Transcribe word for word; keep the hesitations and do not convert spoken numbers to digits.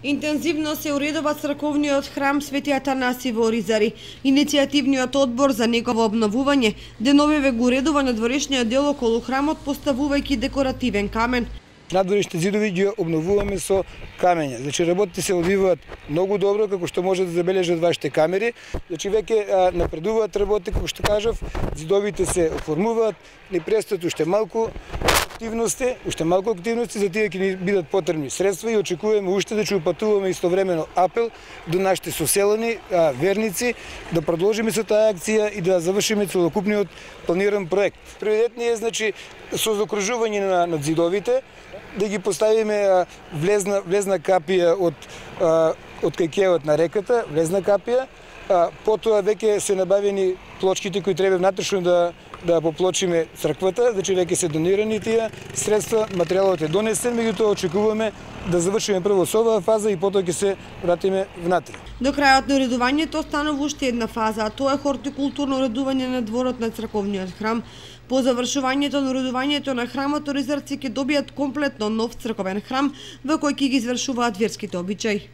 Интензивно се уредува црковниот храм Свети Атанаси во Оризари. Иницијативниот одбор за негово обновување деновиве го уредува надворешниот дел околу храмот, поставувајќи декоративен камен. Надворешните зидови ги обновуваме со камења. Значи работите се одвиваат многу добро, како што може да забележат вашите камери. Значи веќе напредуваат работи, како што кажав, зидовите се оформуваат, ни престојат уште малку активности, уште малку активности, за тие ќе ни бидат потребни средства и очекуваме уште да ќе упатуваме истовремено апел до нашите соселани, верници, да продолжиме со таа акција и да завршиме целокупниот планиран проект. Приоритетниот е, значи, со закружување на, на зидовите, да ги поставиме влезна, влезна капија од, од кај на реката, влезна капија, потоа веќе се набавени плочките кои треба внатрешно да да поплочиме црквата, значи веќе се донирани тие средства, материјалот е донесен, меѓутоа очекуваме да завршиме прво со оваа фаза и потоа ќе се вратиме внатре. До крајот на уредувањето останува уште една фаза, а тоа е хортикултурно уредување на дворот на црковниот храм. По завршувањето на уредувањето на храмот, оризарци ќе добијат комплетно нов црковен храм во кој ќе ги извршуваат верските обичаи.